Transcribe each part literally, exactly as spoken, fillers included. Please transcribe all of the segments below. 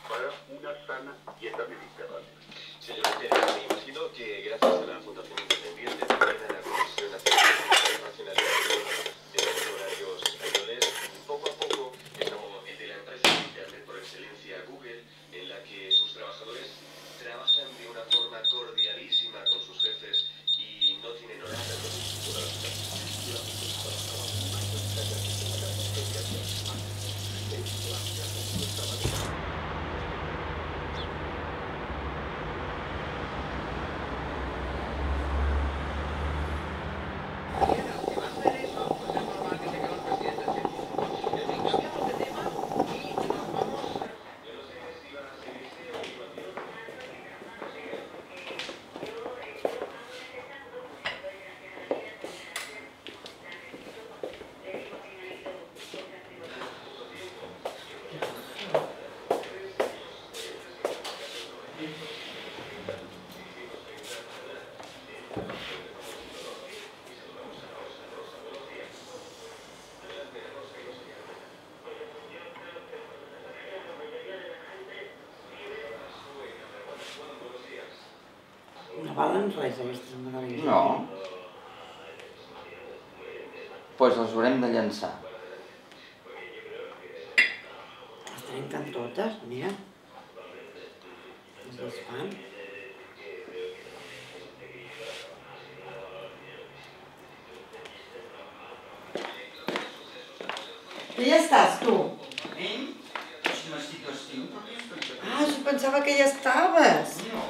para una sana dieta mediterránea. Señor Pérez, me imagino que gracias a la Fundación Independiente, también a la Comisión Nacional Internacional de los Horarios Españoles, poco a poco estamos de la empresa de Internet por excelencia Google, en la que sus trabajadores trabajan de una forma cordialísima con sus jefes y no tienen horarios. No valen res aquestes meravelles. No. Doncs pues les haurem de llançar. Les trenquen totes, mira. Les desfan. Que ja estàs, tu? Eh? Si no estic estiu, per què estic aquí? Ah, jo pensava que ja estaves. No.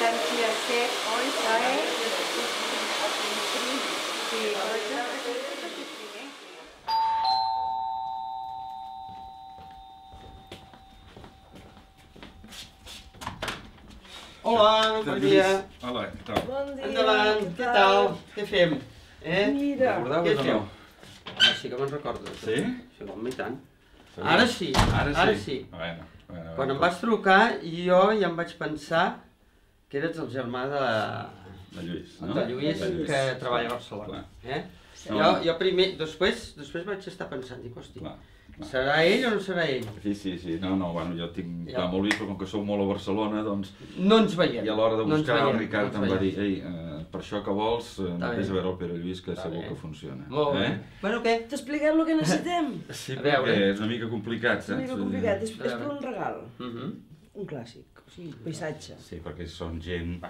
distancia C hoy trae sí, Hola, bon dia. Hola, què tal? Bon dia. Endavant, què tal? Què fem? Eh? Mira. Què feu? Home, sí que me'n recordo. Sí? Sí, home, i tant. Segur? Ara sí, Ara sí. ara sí. Bueno, bueno, Quan em bueno. vas trucar, jo ja em vaig pensar que eres el germà de, De Lluís, no? de Lluís, De Lluís. que treballa a Barcelona. Clar. Eh? No. Jo, jo primer, després, després vaig estar pensant, dic, hosti, Clar, clar. serà ell o no serà ell? Sí, sí, sí. No, no, bueno, jo tinc Ja. clar molt vist, però com que sou molt a Barcelona, doncs... No ens veiem. I a l'hora de no ens buscar, el veiem, Ricard no em ens va dir, veiem. ei, eh, per això que vols, eh, Està vés bé. a veure el Pere Lluís, que Està segur bé. que funciona. Molt bé. Eh? Bueno, què? T'expliquem el que necessitem. Sí, A veure. perquè és una mica complicat, És una saps? mica complicat, és, A és per veure. un regal, Mhm. un clàssic, o sigui, paisatge. Sí, perquè són gent...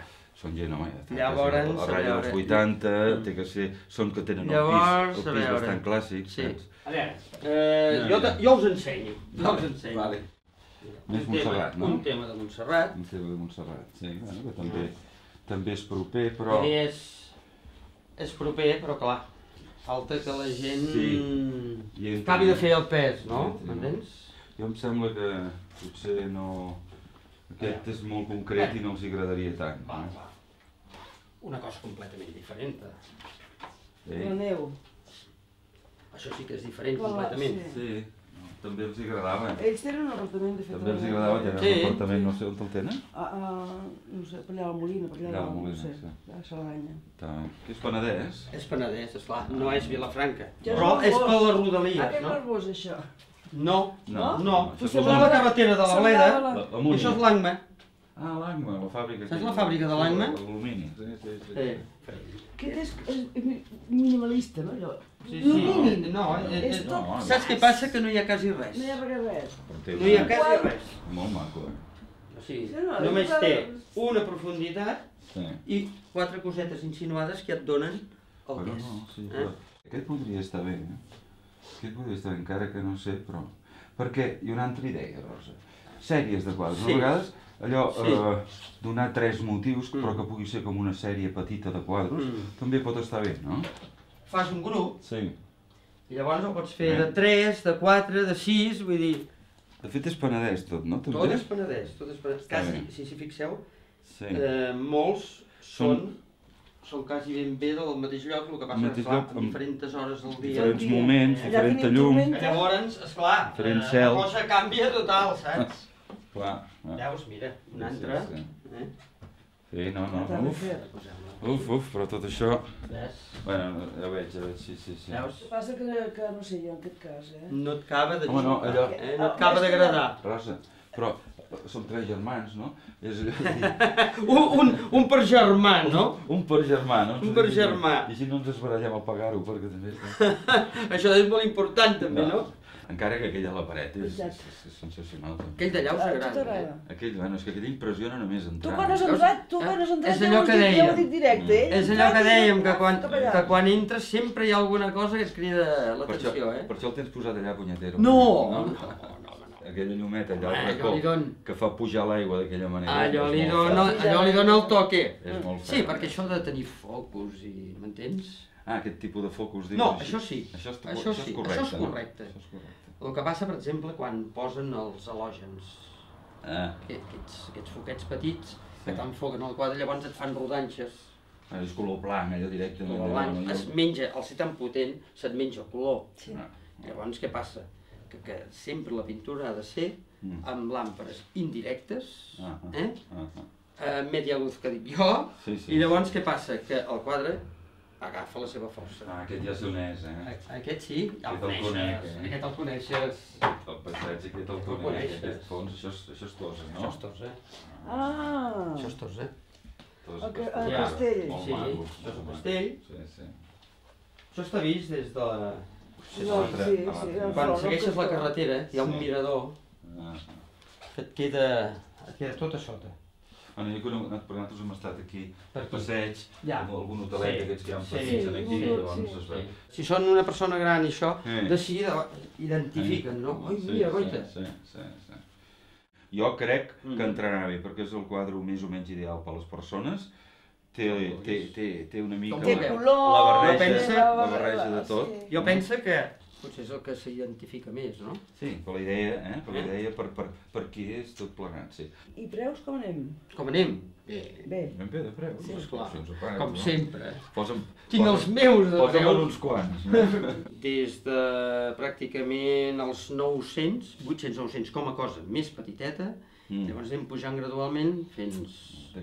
Són gent, home, Llavors, a a ratlla dels veure. vuitanta, Mm. té que ser... Són que tenen el Llavors, pis, a el pis veure. bastant clàssic, Sí. saps? A veure, eh, jo, te- jo us ensenyo. Jo us ensenyo. Vale. Més Un tema- Montserrat, no? Un tema de Montserrat. Un tema de Montserrat, sí, bueno, que també, també és proper, però... I és, és proper, però clar, falta que la gent Sí. I entri- acabi de fer el pes, no? I entri, no? M'entens? Jo em sembla que potser no... Aquest és molt concret i no els agradaria tant. Va, no? va. Una cosa completament diferent. La Sí, neu. Això sí que és diferent Clar, completament. sí. sí, no, també els agradava. Ells tenen un apartament de fet. També els a- agradava tenir Sí. un apartament, no sé on el tenen. A, a, no sé, per allà a la Molina, per allà, Allà a la no Molina, sé, sí. a Saladanya. Està bé. Que és Penedès. És Penedès, esclar, no és Vilafranca. Ja és Però és nervós. per les Ah, rodalies, que no? nervós, això. No, No, no. això és És la la carretera de la Bleda, Semblava La, la i Múnia. això és l'Angma. Ah, l'Angma, la fàbrica. Saps que- la fàbrica de l'Angma? L'alumini, sí, sí, sí. Sí. Aquest és, és minimalista, no, allò? Sí, No sí. mínim. No, eh, És eh, tot... no, saps què passa? Que no hi ha quasi res. No hi ha res. Té No hi ha una- quasi res. Molt maco, eh? O sigui, Sí, no, només és- té una profunditat Sí. i quatre cosetes insinuades que et donen el Bueno, pes. no, sí, Eh? però aquest podria estar bé, eh? Aquest podria estar bé, encara que no sé, però... Perquè hi ha una altra idea, Rosa. Sèries de quadres. Sí. A vegades, allò, Sí. eh, donar tres motius, Mm. però que pugui ser com una sèrie petita de quadres, Mm. també pot estar bé, no? Fas un grup Sí. i llavors el pots fer Eh? de tres, de quatre, de sis, vull dir, De fet és Penedès tot, no? tot També? és Penedès, tot és Penedès. Està Quasi, bé. si s'hi fixeu, Sí. eh, molts Són- són, són quasi ben bé del mateix lloc, el que passa mateix és clar, lloc, en amb diferents hores del dia. Diferents dia. moments, Allà diferent tenim llum. tormenta. Llavors, esclar, Diferent eh, cel. la cosa canvia total, saps? Clar. ah. Veus, mira, un Sí, altre. sí, sí. Eh? Sí, no, no, T'ha no, de uf, fer. Posem-la. uf, uf, però tot això... Ves? Bueno, ja veig, ja veig, sí, sí, sí. Veus? El que passa que, que no sé jo, en aquest cas, eh? No et acaba de Home, no, allò- eh? no et acaba d'agradar. Rosa, però som tres germans, no? És allò de dir, Un, un, un per germà, no? un per germà, no? Un per germà. I així no ens esbarallem a pagar-ho, perquè també... Això és molt important també, no? Encara que aquell a la paret és, és, Exacte. és sensacional. també. Aquell d'allà us A tu agrada. t'agrada. Eh? Aquell, bueno, és que aquell impressiona només Tu entrar. quan has no? entrat, tu Eh? quan has entrat, És allò ja ho que has dit- ja ho dèiem. dic directe, eh? És allò que dèiem, que quan, Cap allà. que quan entres sempre hi ha alguna cosa que et crida Per això, l'atenció, eh? per això el tens posat allà, punyetero. No, no, no, no. Aquella llumeta allà Home, al allò li racó, don- que fa pujar l'aigua d'aquella manera. Allò és li, molt dona, fort. allò li dona el toque. És molt Sí, fort. perquè això de tenir focus i... m'entens? Ah, aquest tipus de focus, digues No, així. això sí. Això és, Això això sí, és correcte, això és no? correcte. Això és correcte. El que passa, per exemple, quan posen els halògens, Ah, aquests, aquests foquets petits, que t'enfoquen al quadre, llavors et fan rodanxes. és color blanc, allò directament. El blanc es menja, al ser tan potent, se't menja el color. Sí. Ah, Llavors, què passa? Que, que sempre la pintura ha de ser Mm. amb làmpades indirectes, ah, ah, eh? ah, ah. a media luz que dic jo, Sí, sí. i llavors què passa? Que el quadre agafa la seva força. Ah, aquest ja s'uneix, eh? A- Aquest sí, ja el Aquest el conec, coneixes, eh? aquest el coneixes. El paisatge aquest el El conec, coneixes. aquest fons, això és, això és Toses, no? Això és tos, eh? Ah, Això és tos, eh? Toses, El que- Toses. el castell. Molt Sí, maco, això és el molt maco. castell. Sí, sí. Això està vist des de... la- sí, l'altre, sí, a l'altre. sí, el Quan front, segueixes el la costat. carretera, hi ha un Sí. mirador Ah, que et queda, et queda tot a sota. Bueno, jo he conegut, perquè nosaltres hem estat aquí Per al aquí. passeig, Ja. amb algun hotelet Sí. d'aquests que hi ha Sí, petits en aquí, sí, llavors sí. es veu. Si són una persona gran i això, Eh. de seguida identifiquen, no? Ai, mira, goita. Sí, sí, sí. Jo crec que entrarà bé, perquè és el quadre més o menys ideal per a les persones. Té, té, té, té una mica Té la, color, la barreja, pensa- la barreja de tot. Sí. Jo penso que potser és el que s'identifica més, no? Sí, per la idea, eh? Per la idea, per, per, per qui és tot plegat, sí. I preus com anem? Com anem? Bé, Bé. Ben bé de preu. sí, esclar, Si ens ho pagues, com no? sempre. Posa'm, Tinc els meus de posa'm preu. uns quants. No? Des de pràcticament els nou-cents, vuit-cents nou-cents com a cosa més petiteta, Mm. llavors anem pujant gradualment fins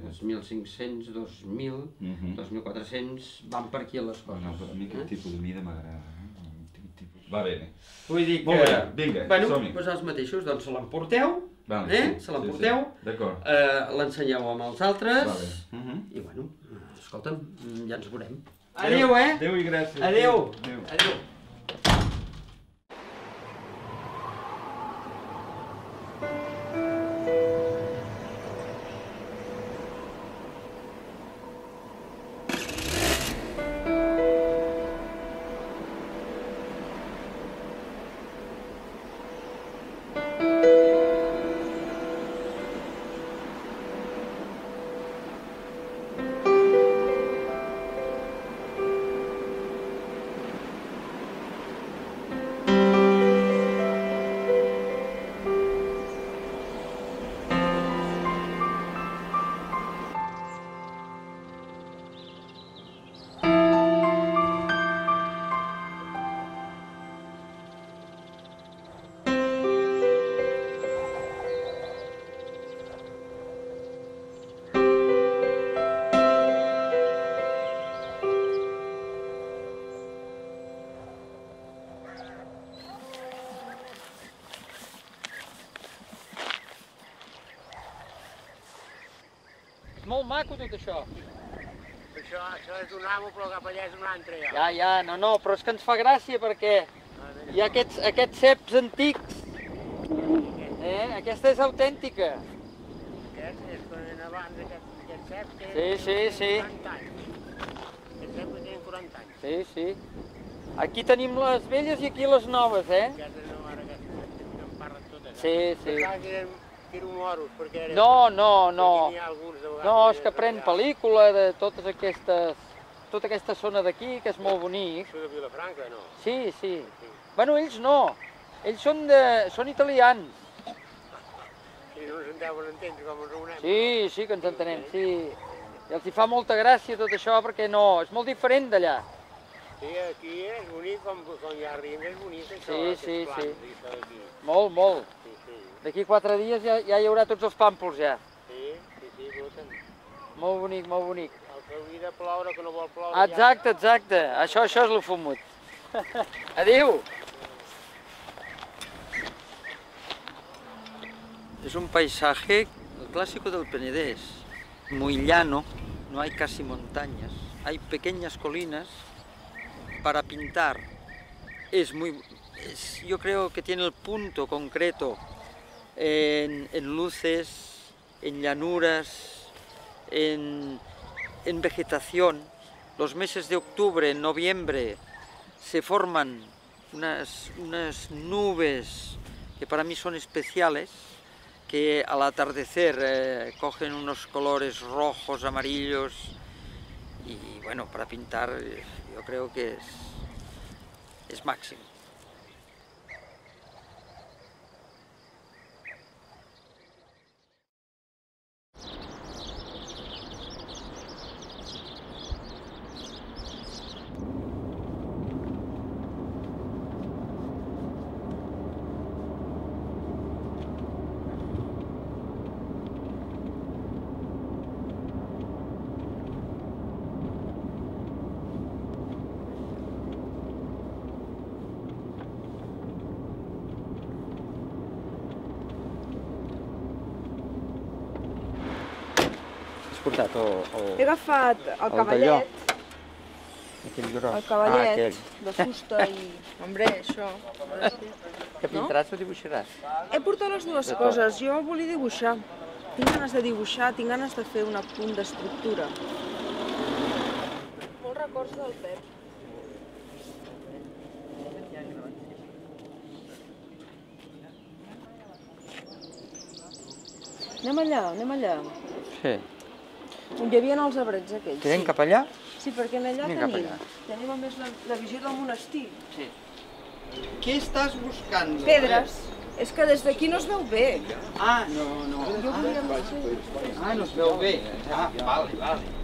als mil cinc-cents, dos mil, Mhm. dos mil quatre-cents, van per aquí les coses. No, a mi aquest tipus de mida m'agrada. Eh? Un tipus- Va bé, bé. Vull dir que... Molt bé, vinga, bueno, som-hi. doncs els mateixos, doncs se l'emporteu, Vale, eh? sí, Se l'emporteu, sí, sí. D'acord. eh, l'ensenyeu amb els altres, Va bé. Mhm. i bueno, escolta'm, ja ens veurem. Adéu, eh? Adéu i gràcies. Adéu. Adéu. Adéu. Molt maco tot això. Això, això és un amo, però cap allà és un altre ja. Ja, ja, no, no, però és que ens fa gràcia perquè hi ha aquests, aquests ceps antics. Eh? Aquesta és autèntica. Aquest és quan en abans aquest, aquest cep té Sí, sí, sí. quaranta anys. Aquest cep que té quaranta anys. Sí, sí. Aquí tenim les velles i aquí les noves, eh? Aquestes no, ara aquestes que em parlen totes. Sí, sí. Pensava que eren, que eren moros, perquè eren... No, no, no. Perquè n'hi ha alguns de vegades No, és que eren pren allà. pel·lícula de totes aquestes... tota aquesta zona d'aquí, que és molt bonic. Això de Vilafranca, no? Sí, sí. Bueno, ells no. Ells són, de... són italians. Si no ens en deuen entendre com ens reunem. Sí, sí que ens entenem, sí. I els hi fa molta gràcia tot això perquè no, és molt diferent d'allà. Sí, aquí és bonic, com, com hi ha rient, és bonic això, Sí, aquests sí, plans, sí. i això d'aquí. Molt, molt. Sí, sí. D'aquí quatre dies ja, ja hi haurà tots els pàmpols ja. Sí, sí, sí, escolta'm. Molt bonic, molt bonic. El que hauria de ploure, que no vol ploure... Exacte, exacte. Això, això és lo fumut. Adéu. Es un paisaje, el clásico del Penedés, muy llano, no hay casi montañas, hay pequeñas colinas para pintar. Es muy, es- yo creo que tiene el punto concreto en, en luces, en llanuras, en, en vegetación. Los meses de octubre, noviembre, se forman unas, unas nubes que para mí son especiales, que al atardecer eh, cogen unos colores rojos, amarillos, y bueno, para pintar eh, yo creo que es, es máximo. Has portat o, o He agafat el El cavallet, aquell gros? el cavallet Ah, aquell. de fusta i... Hombre, això. Que pintaràs o dibuixaràs? He portat les dues coses. Jo volia dibuixar. Tinc ganes de dibuixar, tinc ganes de fer un apunt d'estructura. Molts records del Pep. Anem allà, anem allà. Sí. On hi havia els arbrets aquells. Tirem sí. cap allà? Sí, perquè en allà Anem cap tenim, allà. tenim a més la, la visió del monestir. Sí. Què estàs buscant? Pedres. És que des d'aquí no es veu bé. Ah, no, no. Jo volia fer... Ah, no es veu bé. Ah, vale, vale.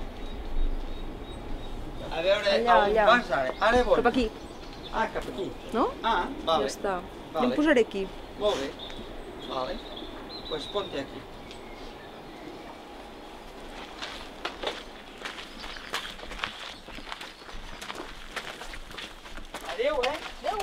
A veure, Allà, on allà. vas ara? Ara on? Cap aquí, Ah, cap aquí. no? Ah, vale. Ja està. Vale. Jo em posaré aquí. Molt bé. Vale. Pues ponte aquí. Adéu, eh? Adéu.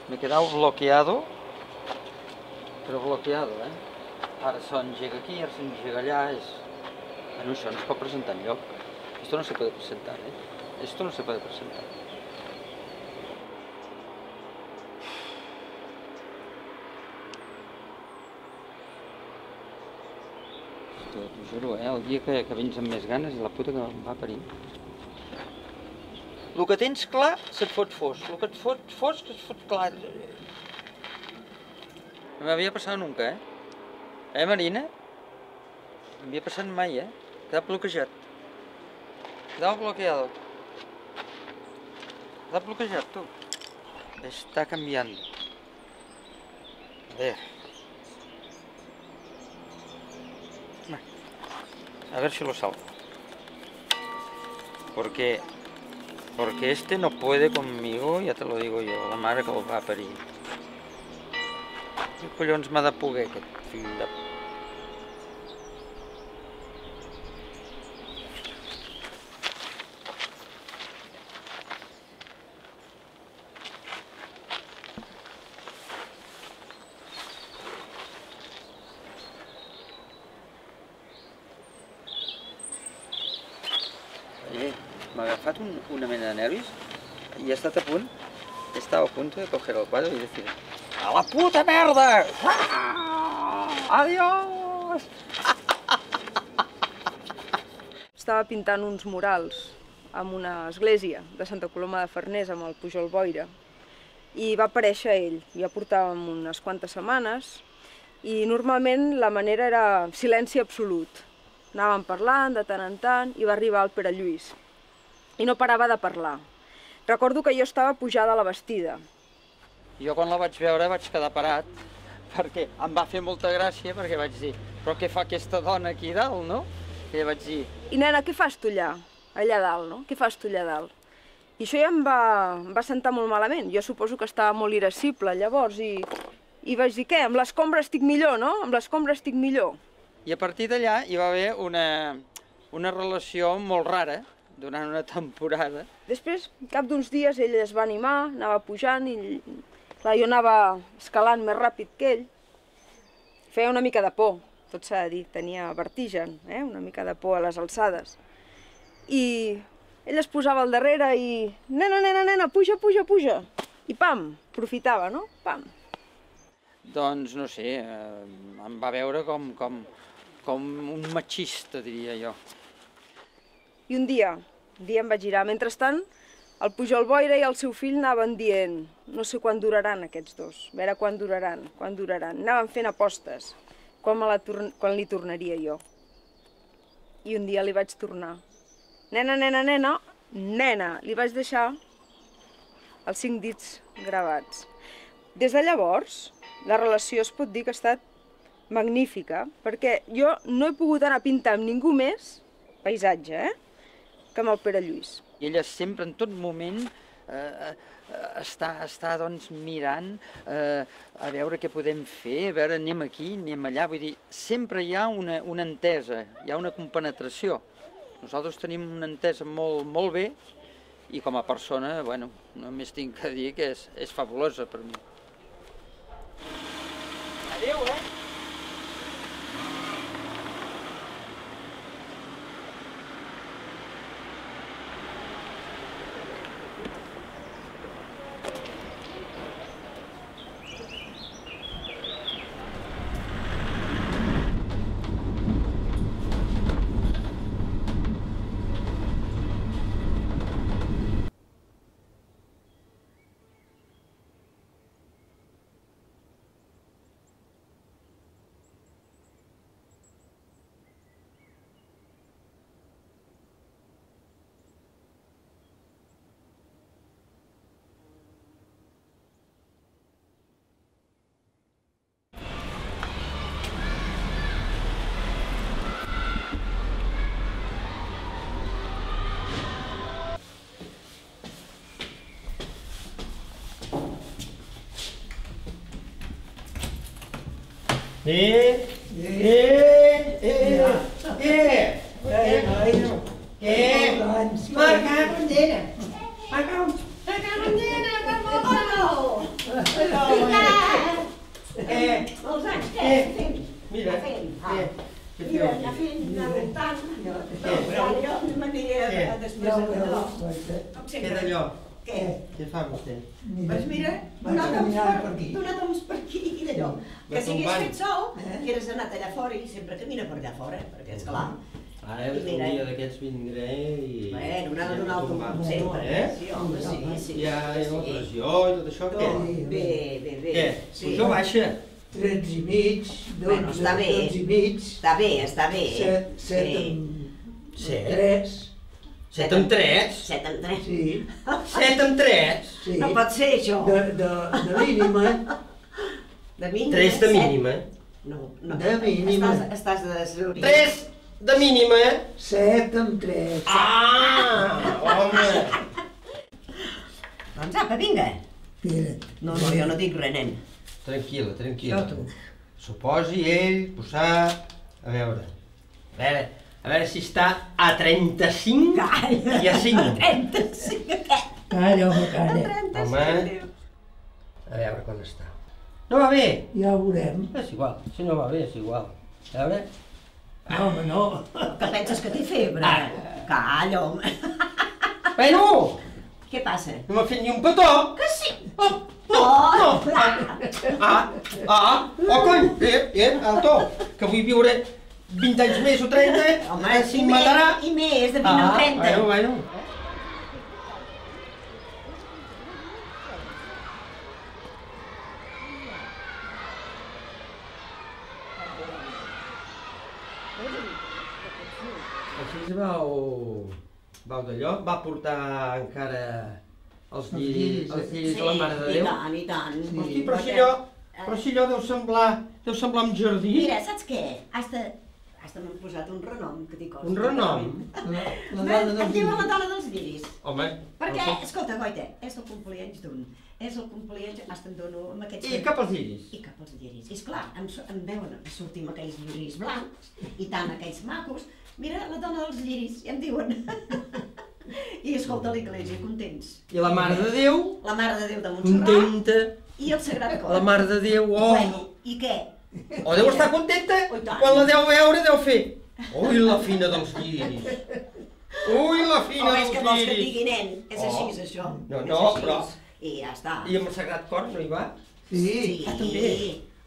Me he quedado bloqueado, però bloqueado, eh? Ara s'engega aquí, ara s'engega allà, és... Bueno, això no es pot presentar enlloc. Esto no se puede presentar, eh? Esto no se puede presentar. T'ho juro, eh? El dia que, que vens amb més ganes i la puta que em va parir. El que tens clar se't fot fosc, el que et fot fosc es fot clar. No m'havia passat nunca, eh? Eh, Marina? No m'havia passat mai, eh? Quedava bloquejat. Quedava bloqueado. Quedava bloquejat, tu. Està canviant. A ver. A ver si lo salvo. Porque... Porque este no puede conmigo, ya te lo digo yo, la mare que el va parir. Què collons m'ha de poder aquest fill de... M'ha agafat un, una mena de nervis i he estat a punt, he estat a punt de coger el quadre i decir ¡a la puta merda! ¡Ah! ¡Adiós! Estava pintant uns murals en una església de Santa Coloma de Farners amb el Pujol Boira i va aparèixer ell. Ja portàvem unes quantes setmanes i normalment la manera era silenci absolut. Anàvem parlant de tant en tant i va arribar el Pere Lluís. I no parava de parlar. Recordo que jo estava pujada a la bastida. Jo quan la vaig veure vaig quedar parat, perquè em va fer molta gràcia, perquè vaig dir, però què fa aquesta dona aquí dalt, no? I vaig dir... I nena, què fas tu allà? Allà dalt, no? Què fas tu allà dalt? I això ja em va, em va sentar molt malament. Jo suposo que estava molt irascible llavors i, i vaig dir, què? Amb l'escombra estic millor, no? Amb l'escombra estic millor. I a partir d'allà hi va haver una, una relació molt rara, durant una temporada. Després, cap d'uns dies, ell es va animar, anava pujant i clar, jo anava escalant més ràpid que ell. Feia una mica de por, tot s'ha de dir, tenia vertigen, eh? Una mica de por a les alçades. I ell es posava al darrere i... Nena, nena, nena, puja, puja, puja. I pam, aprofitava, no? Pam. Doncs, no sé, eh, em va veure com, com, com un machista, diria jo. I un dia, un dia em vaig girar. Mentrestant, el Pujol Boira i el seu fill anaven dient no sé quan duraran aquests dos, a veure quan duraran, quan duraran. Anaven fent apostes, quan, me la quan li tornaria jo. I un dia li vaig tornar. Nena, nena, nena, nena, li vaig deixar els cinc dits gravats. Des de llavors, la relació es pot dir que ha estat magnífica, perquè jo no he pogut anar a pintar amb ningú més, paisatge, eh? Que amb el Pere Lluís. I ella sempre, en tot moment, eh, està, està doncs, mirant eh, a veure què podem fer, a veure, anem aquí, anem allà, vull dir, sempre hi ha una, una entesa, hi ha una compenetració. Nosaltres tenim una entesa molt, molt bé i com a persona, bueno, només tinc que dir que és, és fabulosa per mi. Adéu, eh? Eh, eh, eh, eh, eh, marca bandera, marca bandera, marca bandera. Eh, mira, fent, va. eh, què Mira, feu anar aquí? fent, anar voltant. Què? Ja, jo m'aniré Què? a- després a d'allò. Com Què sempre. d'allò? Què? Què fa vostè? Doncs mira, donat-nos per, donat per aquí i d'allò. Que si hagués fet sol, que hagués anat allà fora i sempre camina per allà fora, perquè és clar. Ara un dia d'aquests vindré i... Bueno, anar a donar el tombar. tomb sempre, Eh? sí, home, sí, sí. Hi ha la pressió i tot això, què? Bé, bé, bé. Què? Sí. Puja o baixa? Trets i mig, Bueno, dotze, està bé. dotze i mig, Està bé, està bé. set, set Sí. amb Set? tres. Set amb tres? Set amb tres. Sí. Set amb tres? Sí. No pot ser, això. De, de, de mínima. De mínima. Tres de set. mínima? No, no. De mínima. Estàs, estàs de desorientat. Tres de mínima? Set amb tres. Ah, home! Doncs apa, vinga. Espera't. No, no, jo no dic res, nen. Tranquil·la, tranquil·la. Això tu. Suposi ell, posar... A veure... A veure, a veure si està a trenta-cinc Calla. i a cinc. trenta-cinc, què? Calla, home, A calla. trenta-cinc, Home. Déu. A veure quan està. No va bé? Ja ho veurem. És igual, si no va bé és igual. A veure... No, home, no. Que penses que té febre? Ah. Calla, home. Bueno, Què passa? no m'ha fet ni un petó. Que sí. Oh, no, Oh, no. clar. Ah, ah, oh cony, eh, eh, alto, que vull viure vint anys més o trenta, Home, si i em més, matarà. i més, de vint a Ah, trenta. bueno, bueno. Així es vau... vau d'allò? Va portar encara els lliris, els lliris de la Mare de Déu? I tant, i tant. Hosti, però si allò, però si allò deu semblar, deu semblar un jardí. Mira, saps què? Hasta, hasta m'han posat un renom que t'hi costa. Un renom? La, la Em dona dels diuen la llibres. dona dels lliris. Home, Perquè, el- escolta, Goita, és el compleanys d'un. És el compleanys, hasta em dono amb aquests... I cap als lliris? I cap als lliris. I esclar, em, su- em veuen sortir amb aquells lliris blancs i tant aquells macos. Mira, la dona dels lliris, ja em diuen. I escolta l'església, contents. I la Mare de Déu, La Mare de Déu de Montserrat contenta. i el Sagrat Cor. La Mare de Déu, oh! Bueno, i què? O deu estar contenta, Oh, i tant. quan la deu veure deu fer. Ui, la fina dels lliris. Ui, la O fina és dels que vols que et lliris. digui nen? És Oh. així, és això. No, És no, així. però- I ja està. I amb el Sagrat Cor no hi va? Sí. Sí, Ah, també.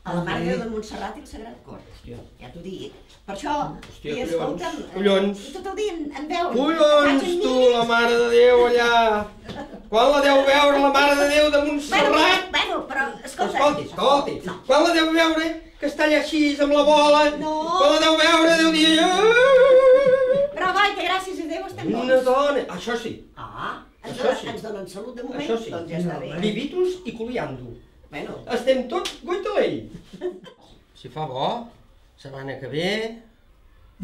a la Mare de Déu de Montserrat i el Sagrat Cor. Hòstia. Ja t'ho dic. Per això, Hòstia, i escolta'm, collons, collons. i tot el dia em, em veuen. Collons, Faig en tu, lliris. la Mare de Déu allà. Quan la deu veure la Mare de Déu de Bueno, Montserrat? bueno, però, escolta. Escolti, escolti. No. Quan la deu veure, que està allà així amb la bola. No. Quan la deu veure, deu dir... Però, Goita, gràcies a Déu estem bons. Una dona. Això sí. Ah, ens, Això donen, sí. ens donen salut de moment, Això sí. doncs ja està bé. Vivitus i coliando. Bueno, Estem tots goitalell. Si fa bo, setmana que ve,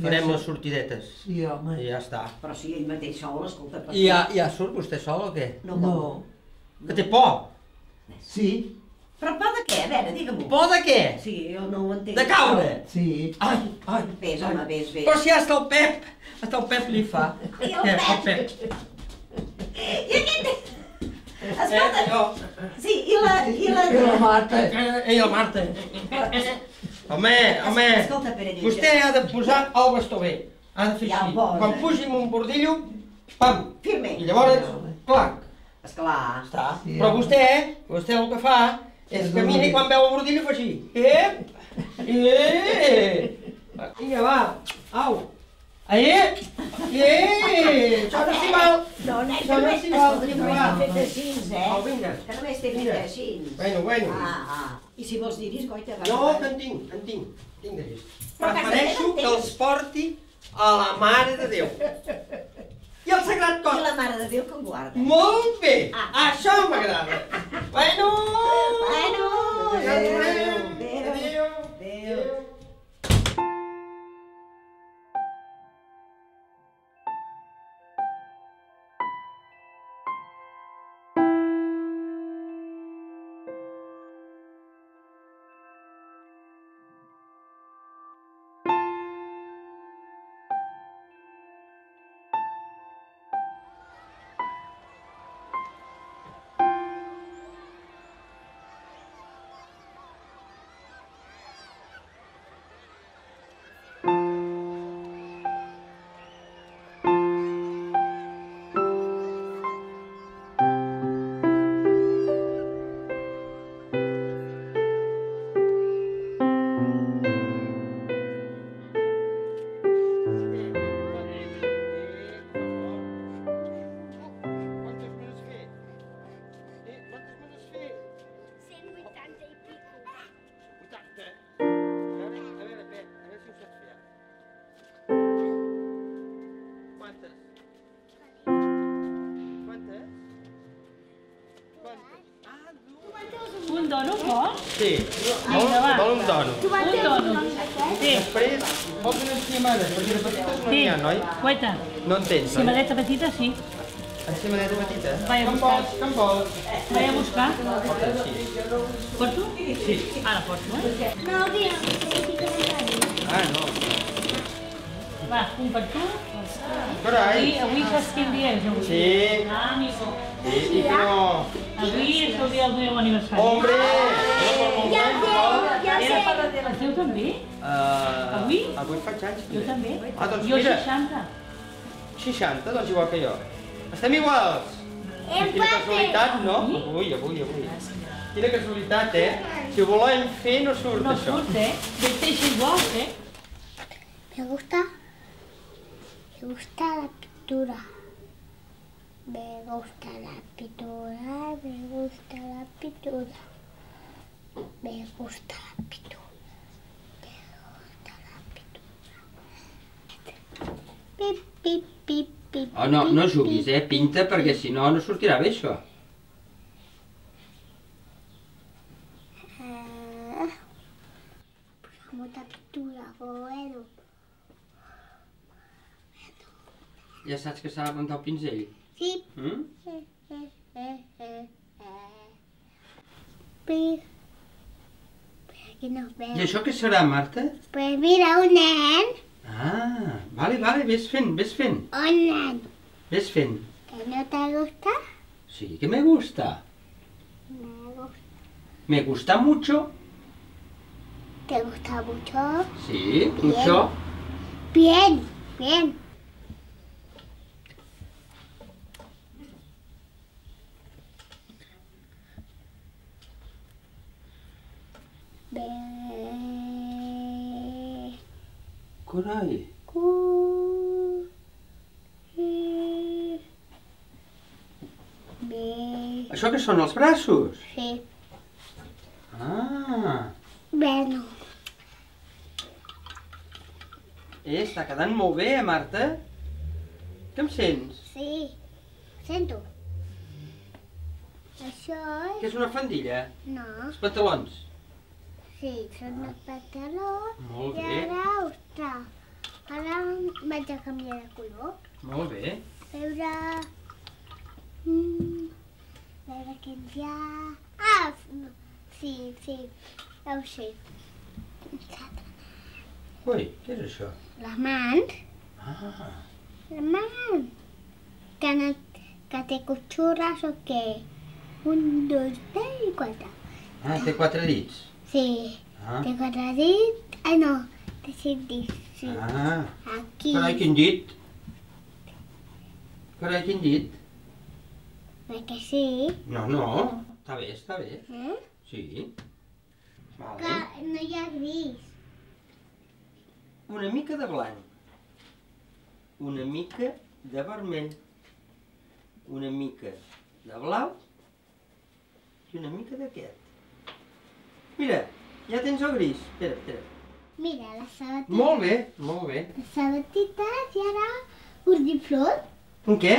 farem les sortidetes. Sí, home. I ja està. però si ell mateix sol, escolta, per I ja, ja surt vostè sol o què? No, No. Que té por. Sí, Però por de què? A veure, digue-m'ho. Por de què? Sí, jo no ho entenc. De caure. sí. Ai, ai. Ves, home, ves, ves. Però si hasta el Pep, hasta el Pep li fa. I el Eh, Pep? Pep. I aquest... Escolta, Eh, jo. sí, i la... I la... I la Marta. Eh, I la Marta. Home, home, Escolta, Pere Lluís. vostè ha de posar el bastó bé. Ha de fer Ja el així. posa. Quan pugi amb un bordillo, pam. Firme. I llavors, clac. Esclar. Està. Sí, Però home. vostè, vostè el que fa és que mira i quan veu el bordillo fa així. Ep! Eh! Vinga, va. Au. Eh! Eh! Això no s'hi val. No, nen, que Això no només, s'hi val. escolta, que només Va. t'he fet així, eh? Au, vinga. Que només t'he fet Vinga. així. Bueno, bueno. Ah, ah. I si vols dir-hi, Goita, va. No, va. que en tinc, en tinc. Tinc de vist. Però a casa Prefereixo teva en que tens. els porti a la Mare de Déu. I el Sagrat I Cor. la Mare de Déu que em guarda. Molt bé. Ah. Això m'agrada. Bueno. Bueno, Ja ens veurem. adéu, Adéu. adéu. dònut, vols? Sí. Vinga, va. Vol un dònut. Un dònut. Sí. Després, vols unes ciamades, perquè de petites no n'hi ha, noi? Guaita. No en tens, oi? Cimadeta petita, sí. Cimadeta petita? Vaig a Com buscar. vols, com vols? Vaig a buscar. Sí. Porto? Sí. Ara porto, eh? No, que Ah, no. Va, un per tu. Carai. Avui, avui saps quin dia és, avui? Sí. Ah, amigo. Sí, i que no. Avui és el dia del meu aniversari. Hombre! No per molt Ja anys, sé, no? ja sé. El teu també? Uh, Avui? Avui faig anys, Jo també. Ah, doncs Jo mira. seixanta. seixanta, doncs igual que jo. Estem iguals. Quina casualitat, no? Avui, avui, avui. Quina casualitat, eh? Si ho volem fer, no surt, No això. surt, eh? Vesteix igual, eh? Me gusta. Me gusta la pintura. Me gusta la pintura. Me gusta la pintura. Me gusta la pintura. Me gusta la pintura. Pip, pip, pip, pip. Oh, no, no juguis, eh? Pinta, perquè si no, no sortirà bé, això. Ah, mucha pintura, bueno. Ja saps que s'ha de plantar el pinzell? Sí. Mm? Eh, eh, eh, eh. Pues, pues aquí nos vemos. I això què serà, Marta? Pues mira, un nen. Ah, vale, vale, ves fent, ves fent. Un nen. Ves fent. ¿Que no te gusta? Sí, que me gusta. Me gusta. Me gusta mucho. ¿Te gusta mucho? Sí, Bien. mucho. Bien, bien. Be... Carai. Cu... i- Be... Això què són, els braços? Sí. Ah, Bueno. eh, està quedant molt bé, eh, Marta? Què em sents? Sí. Sento. Això és... Que és una faldilla? No. Els pantalons? Sí, són els pantalons. Molt I bé. ara, ostres, ara vaig a canviar de color. Molt bé. Veure... Mm, veure quins hi ha... Ah, no. Sí, sí, ja ho sé. Ui, què és això? Les mans. Ah, Les mans. Que, no, que té cotxures o què? Un, dos, tres i quatre. ah té quatre dits. Sí, Ah, té quatre dits. Ai, no, té cinc dits. Sí. ah. Aquí. Carai, quin dit. Carai, quin dit. Perquè sí. No, no, està bé, està bé. Eh? Sí. Vale. Que no hi ha gris. Una mica de blanc. Una mica de vermell. Una mica de blau. I una mica d'aquest. Mira, ja tens el gris. Espera, espera. Mira, les sabatites. Molt bé, molt bé. Les sabatites i ara urdiflor. Un què?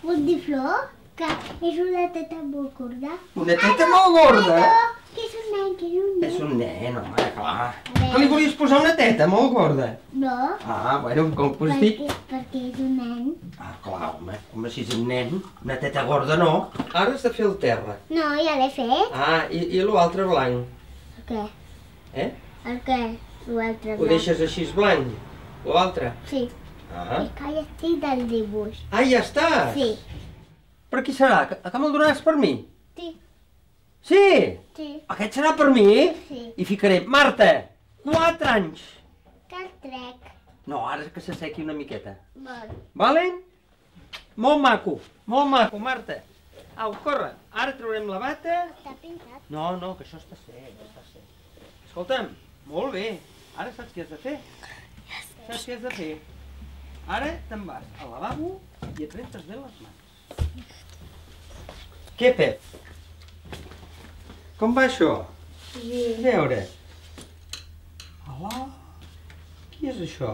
Urdiflor, que és una teta molt gorda. Una teta molt gorda? Ai, no, que és un nen, que és un nen. És un nen, home, clar. Que li volies posar una teta molt gorda? No, Ah, bueno, com que has dit... perquè, perquè és un nen. Ah, clar, home, home, si és un nen, una teta gorda no. Ara has de fer el terra. No, ja l'he fet. Ah, i, i l'altre blanc. El què? Eh? El què? L'altre Ho deixes així blanc, l'altre? Sí. Ah. És que ja estic del dibuix. Ah, ja estàs? Sí. Per qui serà? Que, que me'l donaràs per mi? Sí. Sí? Sí. Aquest serà per mi? Sí. I ficaré, Marta, quatre anys. Que el trec. No, ara que s'assequi una miqueta. Vol. Vale? Molt maco, molt maco, Marta. Au, corre, ara traurem la bata. Està pintat. No, no, que això està sec, està sec. Escolta'm, molt bé. Ara saps què has de fer? Saps què has de fer? Ara te'n vas al lavabo i et rentes bé les mans. Què, Pep? Com va això? Sí. A veure. Hola. Qui és això?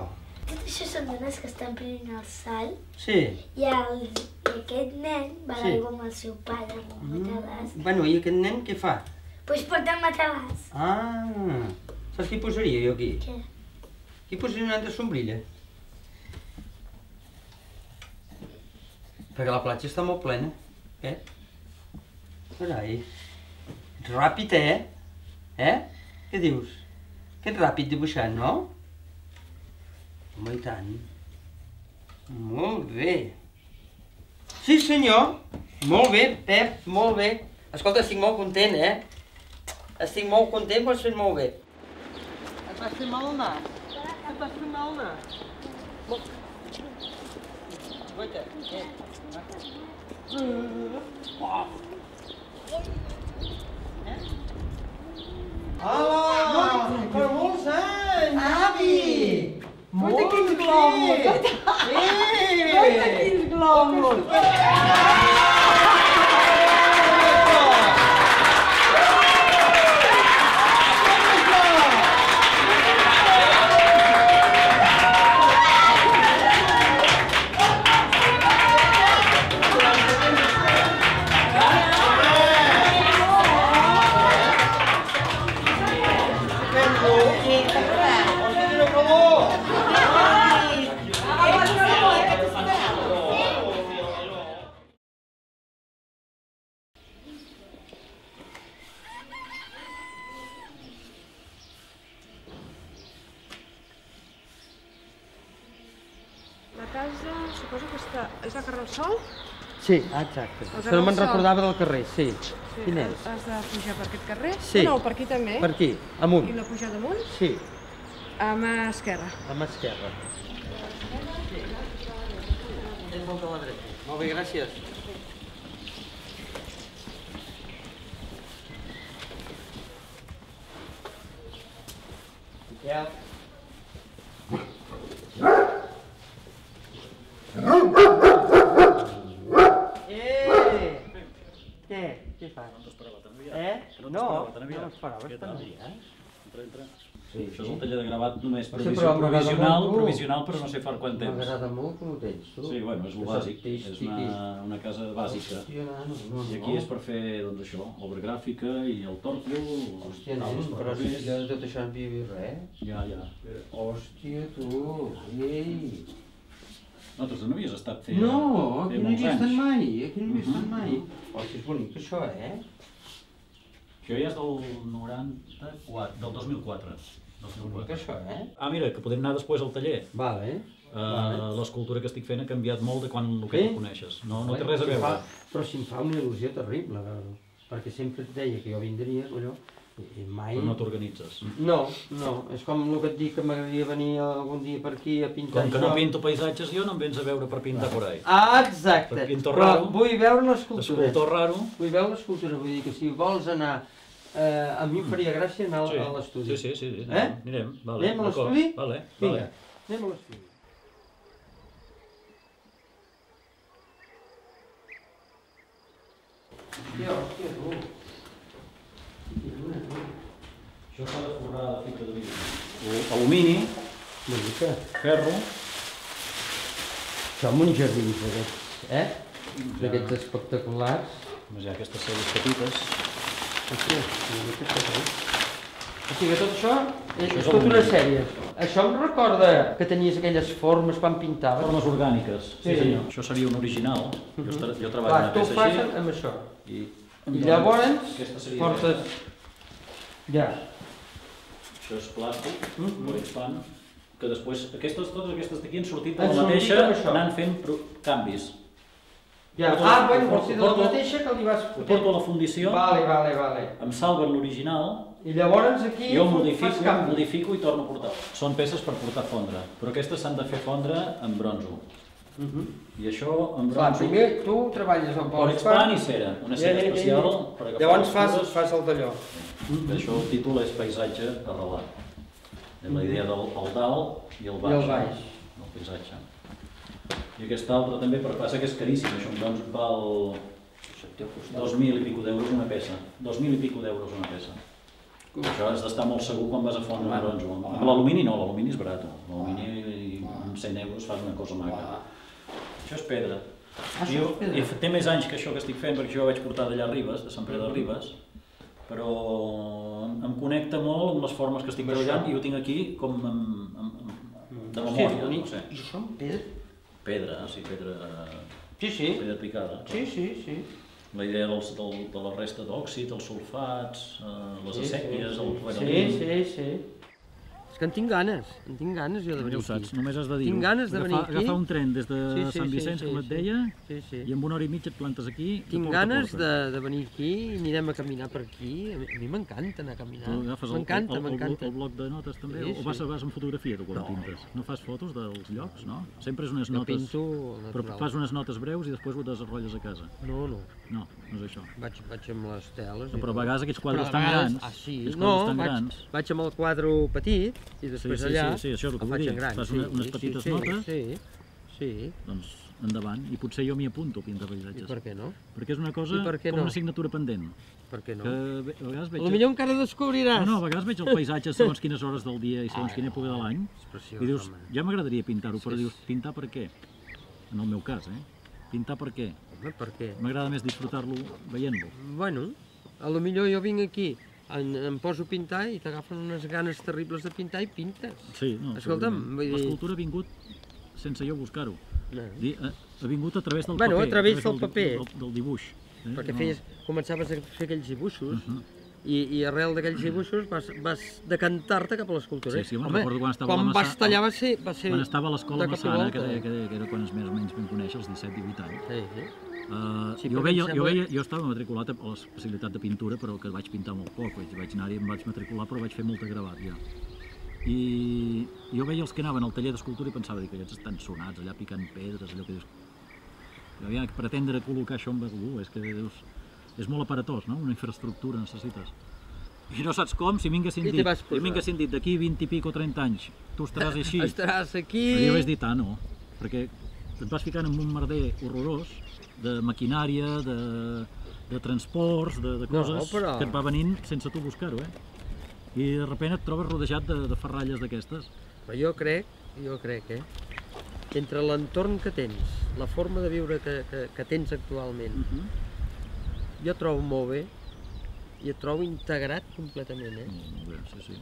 Tot això són dones que estan prenent el sal Sí. i, el, i aquest nen va a Sí. l'aigua amb el seu pare, amb un matalàs. Bueno, i aquest nen què fa? Pues porta el matalàs. Ah, saps què posaria jo aquí? Què? Aquí posaria una altra sombrilla. Perquè la platja està molt plena, eh? Carai, ets ràpid, eh? Eh? Què dius? Que ets ràpid dibuixant, no? Home, i tant. Molt bé. Sí, senyor. Molt bé, Pep, molt bé. Escolta, estic molt content, eh? Estic molt content, ho has fet molt bé. Et vas fer mal al nas? Et vas fer mal al nas? Guaita, eh? Hola! Per molts anys, avi! Guaita quins globus! Guaita quins globus! La casa, suposo que està... és a carrer el Sol? Sí, exacte. El Això no me'n Sol. recordava del carrer, sí. Sí, Quin és? Has de pujar per aquest carrer? Sí. No, per aquí també. Per aquí, amunt. I no pujar damunt? Sí, A mà esquerra. a mà esquerra. És molt a la dreta. Molt bé, gràcies. Ja. Eh! Què? Què fas? No t'esperava tan aviat. Eh? Que no No, t'esperava tan aviat. no m'esperava Què tan tal? aviat. Entra, entra. Sí, Això és sí. un taller de gravat només Sí, provisional, però m'agrada provisional, molt, tu. provisional, però no sé per quant temps. M'agrada molt com ho tens, tu. Sí, bueno, és el Això bàsic, és artístic una, i- una casa bàsica. Hòstia, nano, no, I aquí no. és per fer, doncs això, obra gràfica i el tòrfol, Hòstia, taules nen, per però si papers. jo de tot això no havia vist res. Ja, ja. Hòstia, tu, ei. Nosaltres no havies estat fent No, fer aquí no hi molts havia estat anys. mai, aquí no hi havia estat Mhm. mai. Hòstia, és bonic això, eh? Això ja és del noranta-quatre, del dos mil quatre. dos mil Bonic quatre. això, eh? Ah, mira, que podem anar després al taller. Vale. Uh, Vale. L'escultura que estic fent ha canviat molt de quan el que Sí? tu coneixes. No, no té Vale, res a si em veure. fa- Però si em fa una il·lusió terrible, veure-ho. Perquè sempre et deia que jo vindria, colló, i i mai... Però no t'organitzes. No, no, és com el que et dic que m'agradaria venir algun dia per aquí a pintar Com que no això. pinto paisatges jo, no em vens a veure per pintar por ahí. Ah, exacte. Per pintor Però raro. vull veure l'escultura. Escultor raro. Vull veure l'escultura, vull dir que si vols anar... Eh, a mi em faria gràcia anar Sí, a l'estudi. sí, sí, sí, sí, Eh? anirem, vale, Anem a d'acord, l'estudi? vale, Vinga, vale. anem a l'estudi. Hòstia, hòstia, tu. Això s'ha de forrar de fibra de vidre. Alumini, Una mica. ferro, Això amb uns jardins d'aquests, eh? D'aquests espectaculars. més hi ha aquestes celles petites. Hòstia, una mica tot, eh? O sigui, tot això és, Això és és tota una alumini. sèrie. Això em recorda que tenies aquelles formes quan pintaves. Formes orgàniques, sí, Sí. senyor. Això seria un original. Jo, estar- jo treballo Clar, en tu ho una fas peça així. amb això. I, I llavors Aquesta seria portes... Ja. Això és plàstic, Mhm. poliespan, que després, aquestes, totes aquestes d'aquí han sortit de Han la sortit mateixa, amb això. anant fent pro- canvis. Ja. Porto- Ah, bueno, porto- vols dir de la porto- mateixa que li vas... Ho porto a la fundició, Vale, vale, vale. em salven l'original, I llavors aquí jo fas modifico, canvi. modifico i torno a portar. Són peces per portar a fondre, però aquestes s'han de fer fondre amb bronzo. Mhm. I això amb Clar, bronzo... primer tu treballes amb Politspan i cera, una cera especial per agafar Llavors les fas, cures. fas el talló. Això el títol és Paisatge arrelat. És la idea del el dalt i el baix. I el baix. El paisatge. I aquest altre també, però passa que és caríssim, això doncs val dos mil i pico d'euros una peça. Dos mil i pico d'euros una peça. Això has d'estar molt segur quan vas a fondre un bronzo. Amb l'alumini no, l'alumini és barat. L'alumini amb cent euros fas una cosa maca. Això és pedra. Ah, això Jo, és pedra. i té més anys que això que estic fent, perquè jo ho vaig portar d'allà a Ribes, de Sant Pere de Ribes, però em connecta molt amb les formes que estic treballant i ho tinc aquí com de memòria, no sé. I això amb pedra? Pedra, sí, pedra... Sí, sí. Pedra picada. Sí, sí, sí. La idea de la resta d'òxid, els sulfats, les acèquies, el Sí, sí, sí. És que en tinc ganes, en tinc ganes jo de venir aquí. Ja ho saps, només has de dir-ho. Tinc ganes de venir aquí. Agafar un tren des de Sant Vicenç, com et deia, i en una hora i mitja et plantes aquí. Tinc ganes de venir aquí i anirem a caminar per aquí. A mi m'encanta anar a caminar. M'encanta, m'encanta. El bloc de notes també? O vas amb fotografia tu quan pintes? No fas fotos dels llocs, no? Sempre és unes notes... Jo pinto natural. Però fas unes notes breus i després ho desenrotlles a casa. No, no. No, no és això. Vaig amb les teles. Però a vegades aquests quadres tan grans... Ah, sí. No, vaig amb el quadre petit i després allà Sí, sí, això és el que vull dir. Fas unes petites notes, sí, sí. Doncs endavant. I potser jo m'hi apunto a pintar paisatges. I per què no? Perquè és una cosa com una assignatura pendent. Per què no? Que a vegades veig... Potser encara descobriràs. No, no, a vegades veig el paisatge segons quines hores del dia i segons quina època de l'any. I dius, ja m'agradaria pintar-ho, però dius, pintar per què? En el meu cas, eh? Pintar per què? Home, per què? M'agrada més disfrutar-lo veient-lo. Bueno, a lo millor jo vinc aquí em poso a pintar i t'agafen unes ganes terribles de pintar i pintes. Sí, no, escolta'm, l'escultura ha vingut sense jo buscar-ho. Ha vingut a través del paper. Bueno, a través del paper. Del dibuix. Perquè feies, començaves a fer aquells dibuixos i arrel d'aquells dibuixos vas decantar-te cap a l'escultura. Sí, sí, me'n recordo quan estava a la Massana. Quan vas tallar va ser... Quan estava a l'escola Massana, que era quan més o menys vam conèixer, els disset divuit anys. Sí, sí. Uh, sí, jo, veia, jo, veia, jo estava matriculat a l'especialitat de pintura, però que vaig pintar molt poc. Vaig, vaig anar-hi, em vaig matricular, però vaig fer molt de gravat ja. I jo veia els que anaven al taller d'escultura i pensava que aquests estan sonats, allà picant pedres, allò que dius... Havia que pretendre col·locar això amb algú, és que dius... És molt aparatós, no? Una infraestructura necessites. I no saps com, si m'hinguessin dit, si m'hinguessin dit d'aquí vint i pico o trenta anys, tu estaràs així. Estaràs aquí... Però jo vaig dir, ah, no, perquè et vas ficant en un merder horrorós de maquinària, de, de transports, de, de coses no, però... que et va venint sense tu buscar-ho, eh? I de sobte et trobes rodejat de, de ferralles d'aquestes. Però jo crec, jo crec, eh? Entre l'entorn que tens, la forma de viure que, que, que tens actualment, uh -huh. jo trobo molt bé i et trobo integrat completament, eh? Molt bé, sí, sí.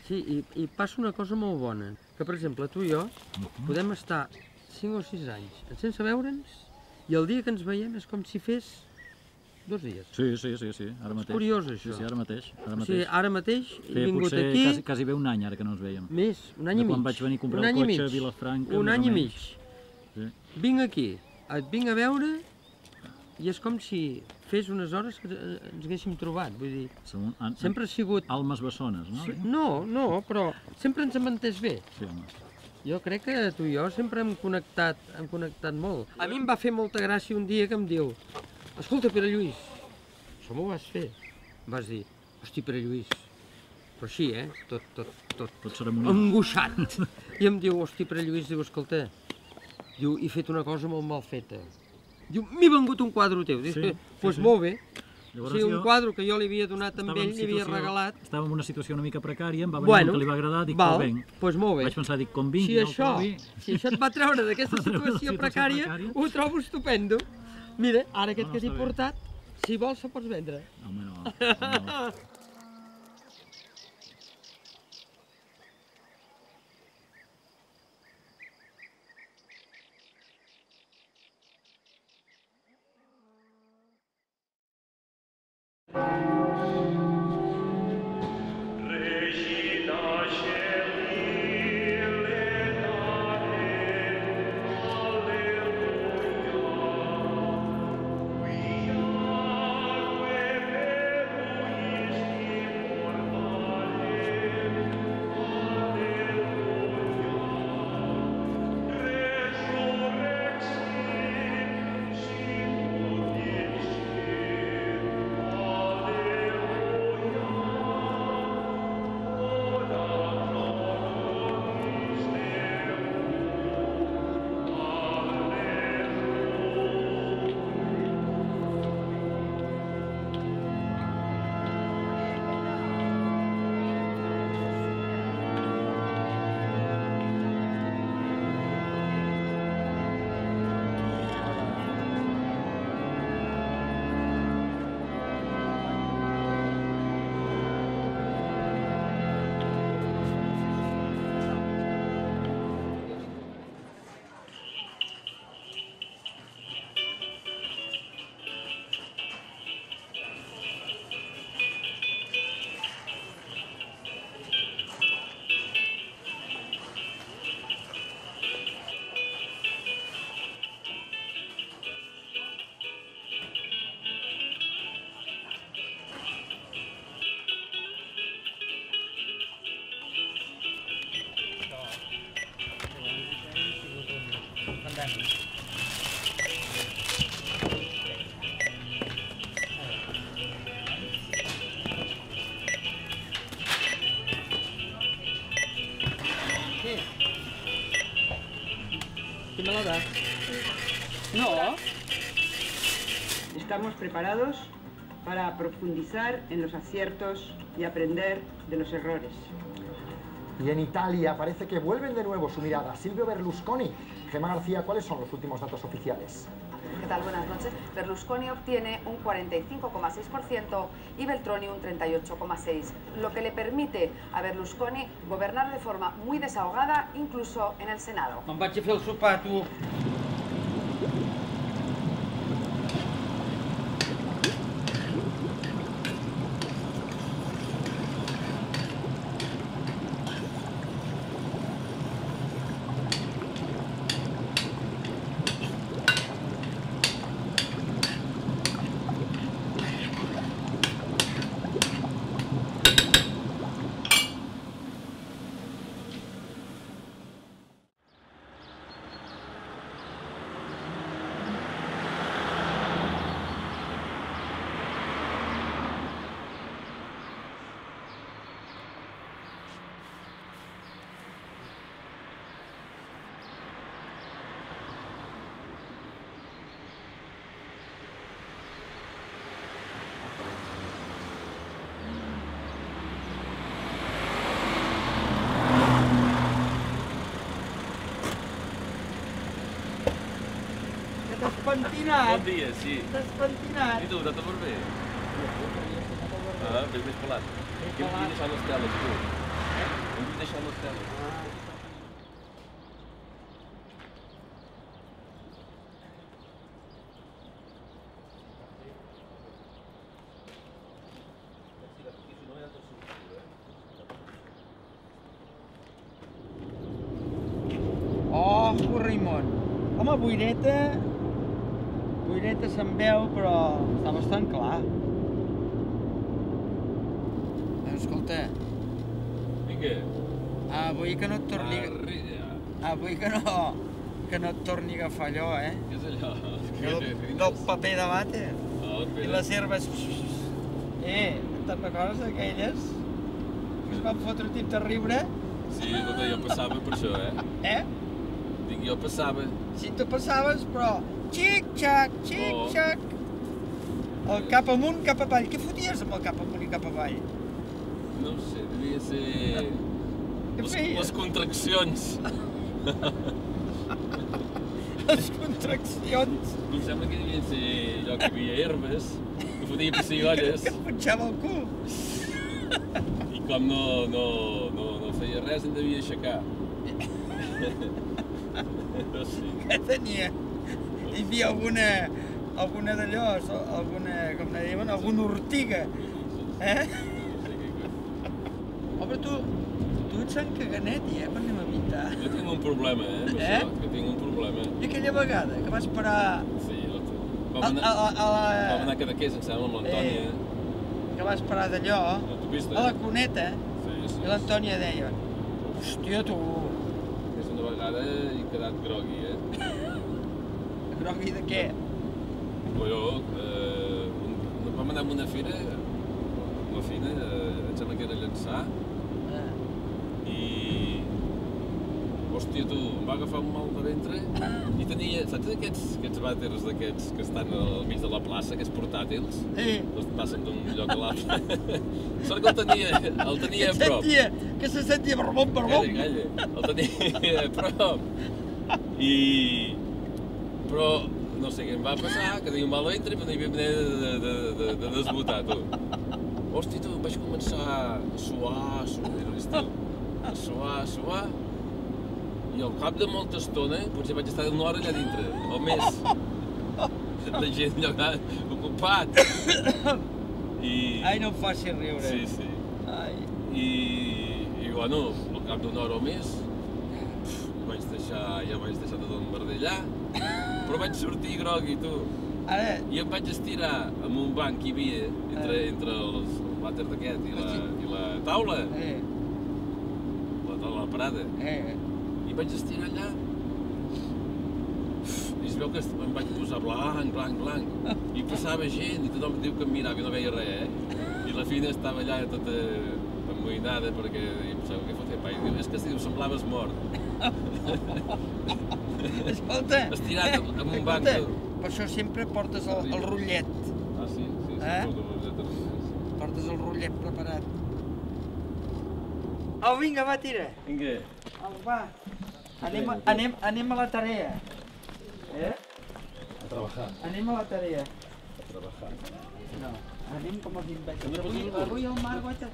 Sí, i, i passa una cosa molt bona, que per exemple tu i jo uh -huh. podem estar cinc o sis anys sense veure'ns i el dia que ens veiem és com si fes dos dies. Sí, sí, sí, sí, ara mateix. És curiós, això. Sí, sí, ara mateix. Ara mateix. O sigui, ara mateix he vingut potser aquí... Quasi, quasi bé un any, ara que no ens veiem. Més, un any i mig. Quan vaig venir a comprar el cotxe a Vilafranca, un any i mig. Sí. Vinc aquí, et vinc a veure i és com si fes unes hores que ens haguéssim trobat, vull dir... Som, an, sempre ha sigut... Almes bessones, no? Sí, no, no, però sempre ens hem entès bé. Sí, home. Jo crec que tu i jo sempre hem connectat, hem connectat molt. A mi em va fer molta gràcia un dia que em diu escolta, Pere Lluís, això m'ho vas fer. Em vas dir, hosti, Pere Lluís, però així, eh? Tot, tot, tot, tot ceremonial. Angoixat. I em diu, hosti, Pere Lluís, diu, escolta, diu, he fet una cosa molt mal feta. Diu, m'he vengut un quadre teu. Diu, doncs pues molt bé. O sigui, un quadre que jo li havia donat a ell, li havia regalat. Estava en una situació una mica precària, em va venir bueno, que li va agradar, dic, val, però venc. Pues molt bé. Vaig pensar, dic, com vingui, si això, trobi... Si això et va treure d'aquesta situació precària, precària, ho trobo estupendo. Mira, ara aquest no, que t'he portat, si vols, se'l pots vendre. Home, no. no. We are mesos. ¿Qué? ¿Qué me la das? No. Estamos preparados para profundizar en los aciertos y aprender de los errores. Y en Italia parece que vuelven de nuevo su mirada. Silvio Berlusconi. Gemma García, ¿cuáles son los últimos datos oficiales? ¿Qué tal? Buenas noches. Berlusconi obtiene un cuarenta y cinco coma seis por ciento y Veltroni un treinta y ocho coma seis por ciento, lo que le permite a Berlusconi gobernar de forma muy desahogada, incluso en el Senado. Me'n vaig a fer el sopar, tu. Pentinat. Bon dia, sí. T'has pentinat. I tu, t'ha tot bé? Ah, ben més pelat. Què em vull deixar les teles, tu? Em vull deixar les teles. Oh, corrimon. Home, boireta... Boireta se'n veu, però està bastant clar. Escolta. Vinga. Avui que no et torni... Avui que no... Que no et torni a agafar allò, eh? Què és allò? Del, del paper de vàter. I les herbes... Eh, te'n recordes d'aquelles? Que es van fotre un tip de riure? Sí, escolta, jo passava per això, eh? Eh? Dic, jo passava. Sí, tu passaves, però... Xic-xac, xic-xac. El cap amunt, cap avall. Què foties amb el cap amunt i cap avall? No ho sé, devia ser... Què les, feies? les contraccions. Les contraccions? Em sembla que devia ser allò que hi havia herbes, que fotia pessigolles. Que em punxava el cul. I com no, no, no, no feia res, em devia aixecar. No sé. Què tenia? Hi havia alguna... alguna d'allò, alguna... com ne diuen? Alguna ortiga. Eh? Oh, però tu... tu ets Sant Caganet, eh? Quan anem a pintar? Jo tinc un problema, eh? Per això, que tinc un problema. I aquella vegada que vas parar... Sí, vam anar, a, a, a la... vam anar a Cadaqués, em sembla, amb l'Antònia. Eh, que vas parar d'allò, a la Cuneta, sí, sí, i l'Antònia deia, hòstia, tu... És una vegada he quedat grogui, eh? Grogui de què? Però, eh, un, vam anar a una fira, una fina, eh, em sembla que era Llançà, ah. i... Hòstia, tu, em va agafar un mal de ventre i tenia, saps aquests, aquests vàters d'aquests que estan al mig de la plaça, aquests portàtils? Sí. Els passen d'un lloc a l'altre. Sort que el tenia, el tenia a prop. Sentia, que se sentia barbom, barbom. Calla, calla, el tenia a prop. I... Però, no sé què em va passar, que tenia un mal ventre, però no hi havia manera de, de, de, de desbotar, tu. Hòstia, tu, vaig començar a suar, a suar, era l'estiu, a suar, a suar, i al cap de molta estona, potser vaig estar una hora allà dintre, o més, de gent allà ocupat. I... Ai, no em faci riure. Sí, sí. Ai. I, i bueno, al cap d'una hora o més, vaig deixar, ja vaig deixar tot el merder allà, però vaig sortir grogui, tu. Ara... I em vaig estirar amb un banc que hi havia entre, entre els, el vàter d'aquest i, la, i la taula. Eh. La taula de la parada. Eh. I vaig estirar allà. veu que em vaig posar blanc, blanc, blanc, i passava gent, i tothom diu que em mirava i no veia res, eh? I la Fina estava allà tota amoïnada perquè em pensava, què fotia, pa? I diu, és que si diu, semblaves mort. Escolta, estirat amb un banc. Per això sempre portes el, el rotllet. Ah, sí, sí, sí, eh? porto el rotllet. Portes el rotllet preparat. Au, vinga, va, tira. Vinga. Au, va. Anem, a- anem, anem a la tarea. Eh? A treballar. Anem a la tarea. A treballar. No, anem com els imbècils. També Avui, pots dir-ho? avui el mar, guaita.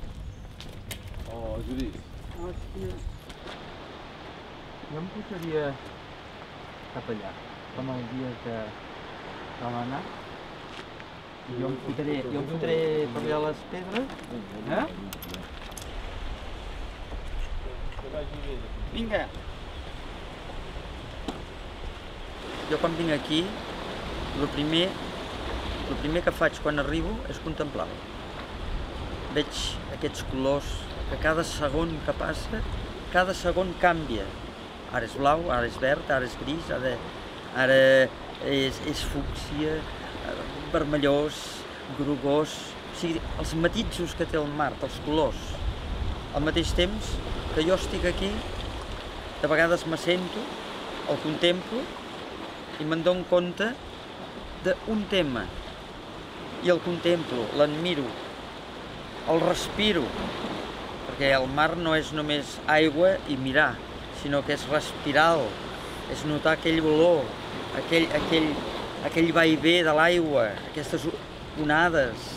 Oh, Judit. Hòstia. Jo em posaria cap allà, com el dia que vam anar. I jo em fotré, jo em fotré per allà les pedres. Eh? Vinga. Jo quan vinc aquí, el primer, el primer que faig quan arribo és contemplar-lo. Veig aquests colors que cada segon que passa, cada segon canvia. Ara és blau, ara és verd, ara és gris, ara, ara és, és fúcsia, vermellós, grogós... O sigui, els matisos que té el mar, els colors. Al mateix temps que jo estic aquí, de vegades m'assento, el contemplo i me'n dono compte d'un tema. I el contemplo, l'admiro, el respiro, perquè el mar no és només aigua i mirar, sinó que és respirar-lo, és notar aquell olor, aquell, aquell, aquell va i ve de l'aigua, aquestes onades,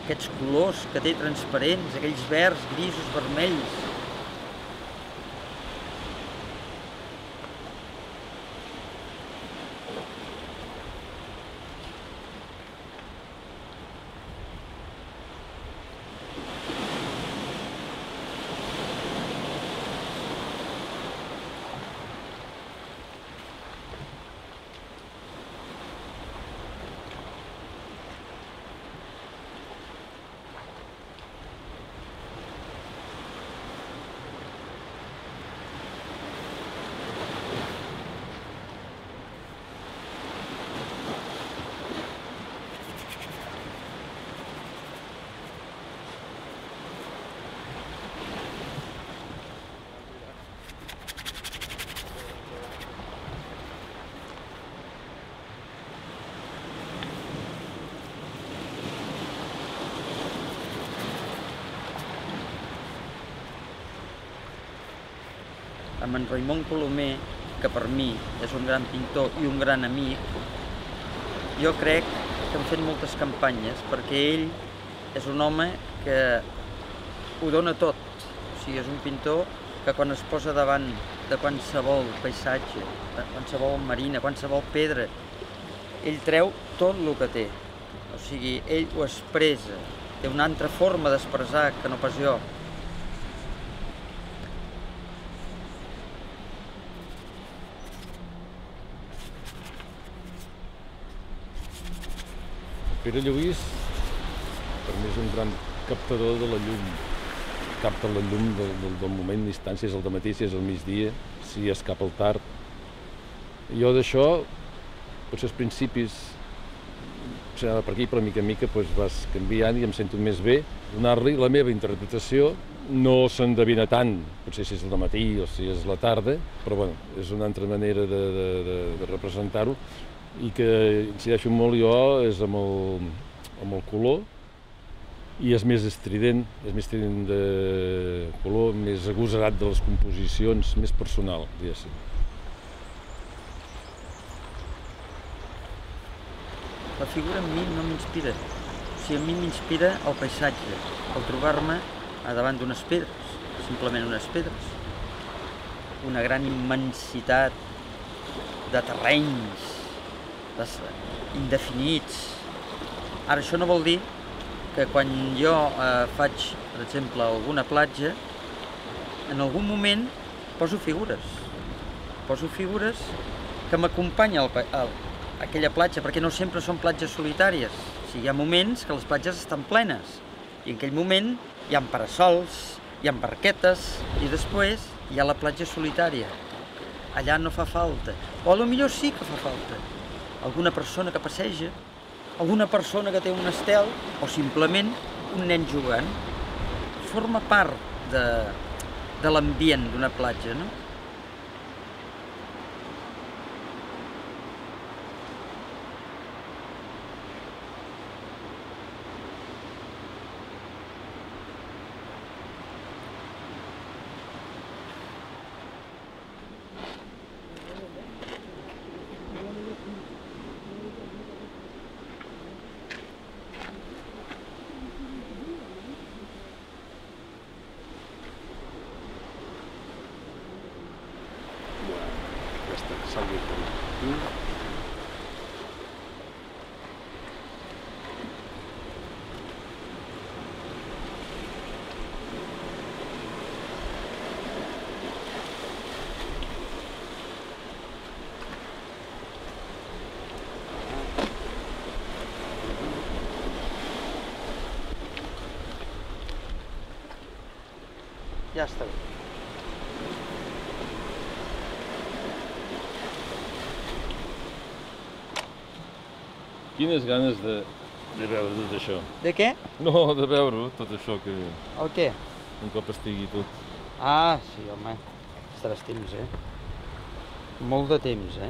aquests colors que té transparents, aquells verds, grisos, vermells. Amb en Raimon Colomer, que per mi és un gran pintor i un gran amic, jo crec que hem fet moltes campanyes perquè ell és un home que ho dona tot. O sigui, és un pintor que quan es posa davant de qualsevol paisatge, de qualsevol marina, qualsevol pedra, ell treu tot el que té. O sigui, ell ho expressa, té una altra forma d'expressar que no pas jo. Pere Lluís, per mi és un gran captador de la llum. Capta la llum del, del, del moment, l'instant, si és al dematí, si és al migdia, si és cap al tard. I jo d'això, potser als principis, potser anava per aquí, però mica en mica doncs, vas canviant i em sento més bé. Donar-li la meva interpretació no s'endevina tant, potser si és al dematí o si és la tarda, però bueno, és una altra manera de, de, de, de representar-ho. I que incideixo molt jo és amb el, amb el color i és més estrident, és més estrident de color, més agosarat de les composicions, més personal, diguéssim. La figura a mi no m'inspira, o sigui, a mi m'inspira el paisatge, el trobar-me davant d'unes pedres, simplement unes pedres, una gran immensitat de terrenys, indefinits. Ara, això no vol dir que quan jo eh, faig, per exemple, alguna platja, en algun moment poso figures. Poso figures que m'acompanyen a aquella platja, perquè no sempre són platges solitàries. O sigui, hi ha moments que les platges estan plenes, i en aquell moment hi ha parasols, hi ha barquetes, i després hi ha la platja solitària. Allà no fa falta, o potser sí que fa falta. alguna persona que passeja, alguna persona que té un estel o simplement un nen jugant. Forma part de, de l'ambient d'una platja, no? Ja està bé. Quines ganes de, de veure tot això. De què? No, de veure tot això que... El què? Un cop estigui tot. Ah, sí, home. Estaràs temps, eh? Molt de temps, eh?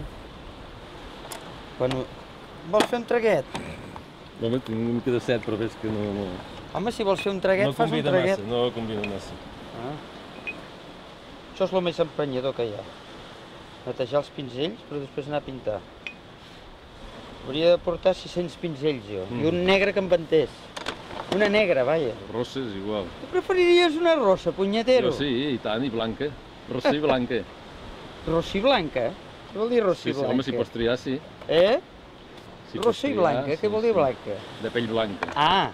Bueno, vols fer un traguet? Home, tinc una mica de set, però veig que no... no... Home, si vols fer un traguet, no fas un traguet. Massa, no combina massa. Ah. Això és el més emprenyador que hi ha. Netejar els pinzells, però després anar a pintar. Hauria de portar sis-cents pinzells, jo. Mm. I un negre que em ventés. Una negra, vaja. Rossa és igual. Tu preferiries una rossa, punyetero? Jo sí, i tant, i blanca. Rossa i blanca. Rossa i blanca? Què vol dir rossa sí, i blanca? Sí, home, si pots triar, sí. Eh? Si rossa i blanca, sí, què vol dir sí. Blanca? De pell blanca. Ah!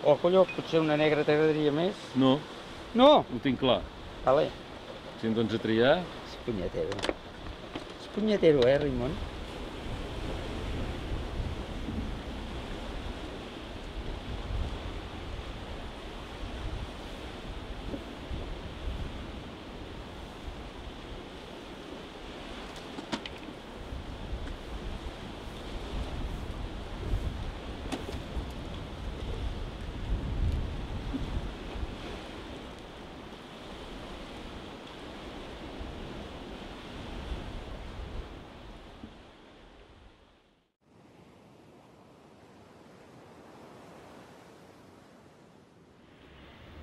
Oh, colló, potser una negra t'agradaria més? No. No? Ho tinc clar. Vale. Si em dones a triar... És punyetero. És punyetero, eh, Raimon?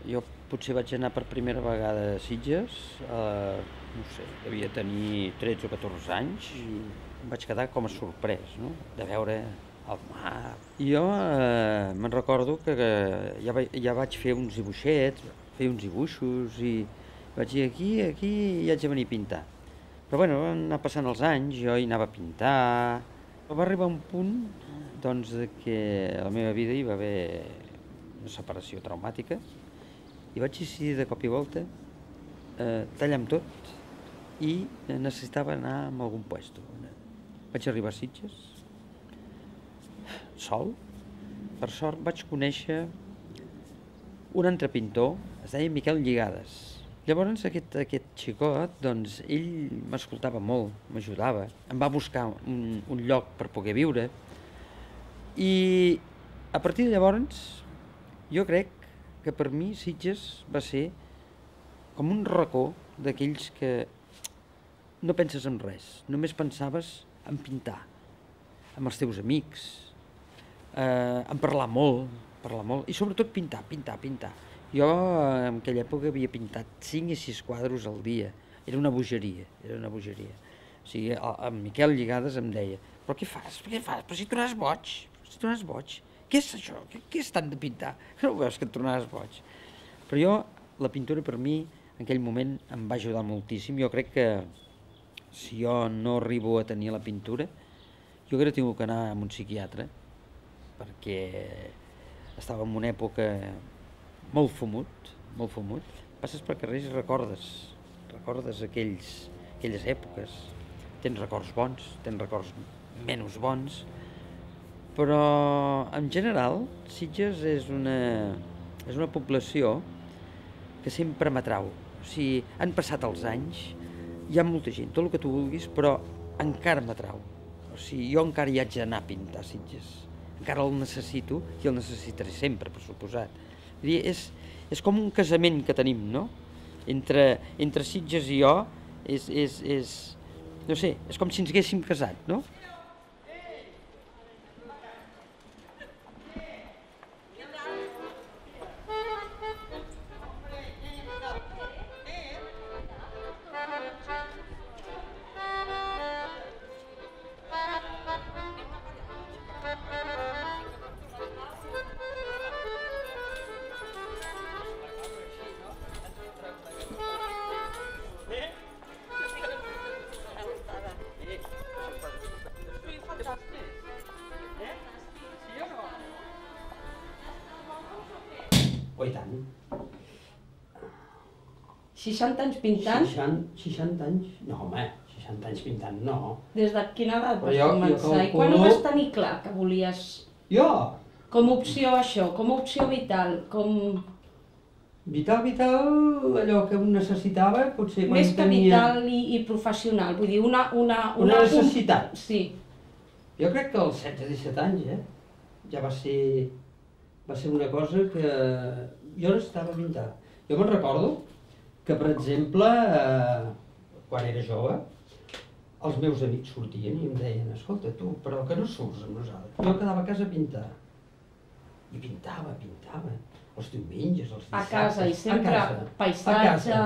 Jo potser vaig anar per primera vegada a Sitges, eh, no sé, devia tenir tretze o catorze anys, i em vaig quedar com a sorprès, no?, de veure el mar. I jo eh, me'n recordo que, que ja, va, ja vaig fer uns dibuixets, fer uns dibuixos, i vaig dir aquí, aquí, i haig de venir a pintar. Però bueno, van anar passant els anys, jo hi anava a pintar. Va arribar un punt, doncs, que a la meva vida hi va haver una separació traumàtica, i vaig decidir de cop i volta eh, tallar amb tot i necessitava anar a algun puesto. Vaig arribar a Sitges, sol. Per sort vaig conèixer un altre pintor, es deia Miquel Lligades. Llavors aquest, aquest xicot, doncs, ell m'escoltava molt, m'ajudava, em va buscar un, un lloc per poder viure, i a partir de llavors jo crec que per mi Sitges va ser com un racó d'aquells que no penses en res, només pensaves en pintar, amb els teus amics, eh, en parlar molt, parlar molt, i sobretot pintar, pintar, pintar. Jo en aquella època havia pintat cinc i sis quadros al dia, era una bogeria, era una bogeria. O sigui, en Miquel Lligades em deia, però què fas, què fas, però si tu n'has boig, si tu n'has boig. Què és això? Què, què és tant de pintar? No ho veus que et tornaves boig? Però jo, la pintura per mi, en aquell moment, em va ajudar moltíssim. Jo crec que si jo no arribo a tenir la pintura, jo crec que tinc que anar a un psiquiatre, perquè estava en una època molt fumut, molt fumut. Passes per carrers i recordes, recordes aquells, aquelles èpoques. Tens records bons, tens records menys bons, però en general Sitges és una, és una població que sempre m'atrau. O sigui, han passat els anys, hi ha molta gent, tot el que tu vulguis, però encara m'atrau. O sigui, jo encara hi haig d'anar a pintar Sitges. Encara el necessito i el necessitaré sempre, per suposat. És, és com un casament que tenim, no? Entre, entre Sitges i jo, és, és, és, no sé, és com si ens haguéssim casat, no? Oh, i tant. seixanta anys pintant? seixanta anys? No, home, seixanta anys pintant, no. Des de quina edat vas jo, començar? jo I quan ho vas tenir clar que volies... Jo? Com a opció això, com a opció vital, com... Vital, vital, allò que un necessitava, potser quan Més que tenia... vital i, i professional, vull dir, una... Una, una necessitat? Sí. Jo crec que als setze disset anys, eh? Ja va ser... va ser una cosa que jo necessitava pintar. Jo me'n recordo que, per exemple, eh, quan era jove, els meus amics sortien i em deien, escolta, tu, però que no surts amb nosaltres. Jo quedava a casa a pintar. I pintava, pintava. Els diumenges, els dissabtes... A casa, i sempre paisatge...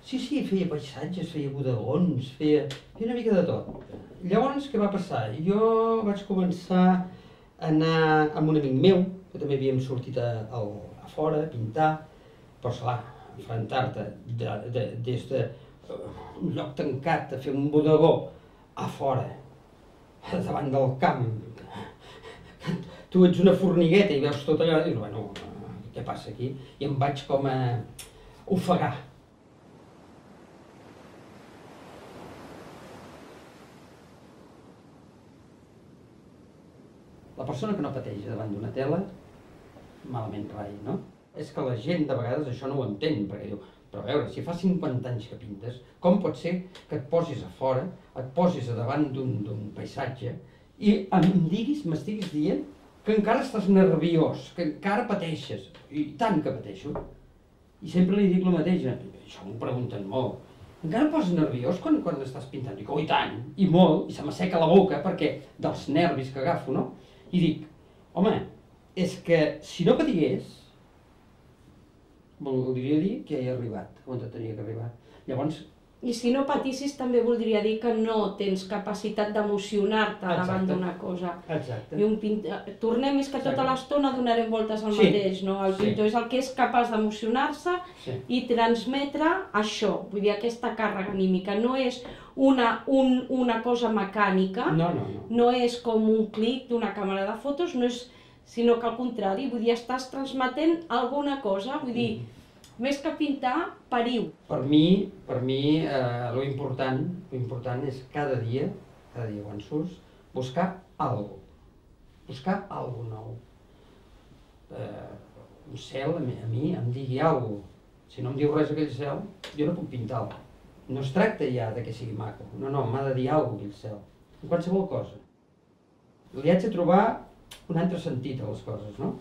Sí, sí, feia paisatges, feia bodegons, feia... feia una mica de tot. Llavors, què va passar? Jo vaig començar a anar amb un amic meu, que també havíem sortit a, a, a fora a pintar, però esclar, enfrontar-te de, de, des de uh, un lloc tancat a fer un bodegó a fora, davant del camp. Tu ets una formigueta i veus tot allò i dius, bueno, què passa aquí? I em vaig com a ofegar. La persona que no pateix davant d'una tela, malament rai, no? És que la gent de vegades això no ho entén, perquè diu, però a veure, si fa cinquanta anys que pintes, com pot ser que et posis a fora, et posis a davant d'un paisatge i em diguis, m'estiguis dient que encara estàs nerviós, que encara pateixes, i tant que pateixo. I sempre li dic el mateix, això m'ho pregunten molt. Encara em poses nerviós quan, quan estàs pintant? Dic, oh, i tant, i molt, i se m'asseca la boca perquè dels nervis que agafo, no? I dic, home, és que si no patigués, voldria dir que ja he arribat on tenia que arribar. Llavors... I si no patissis també voldria dir que no tens capacitat d'emocionar-te davant d'una cosa. Exacte. I un pintor... Tornem, és que tota l'estona donarem voltes al Sí. mateix, no? El pintor Sí. és el que és capaç d'emocionar-se Sí. i transmetre això, vull dir, aquesta càrrega anímica. No és una, un, una cosa mecànica, No, no, no. no és com un clic d'una càmera de fotos, no és, sinó que al contrari, vull dir, estàs transmetent alguna cosa, vull dir, més que pintar, pariu. Per mi, per mi, eh, lo important, lo important és cada dia, cada dia quan surts, buscar alguna cosa. Buscar alguna nou. Eh, un cel, a mi, a mi em digui alguna cosa. Si no em diu res aquell cel, jo no puc pintar-lo. No es tracta ja de que sigui maco. No, no, m'ha de dir alguna cosa aquell cel. En qualsevol cosa. Li haig de trobar un altre sentit a les coses, no?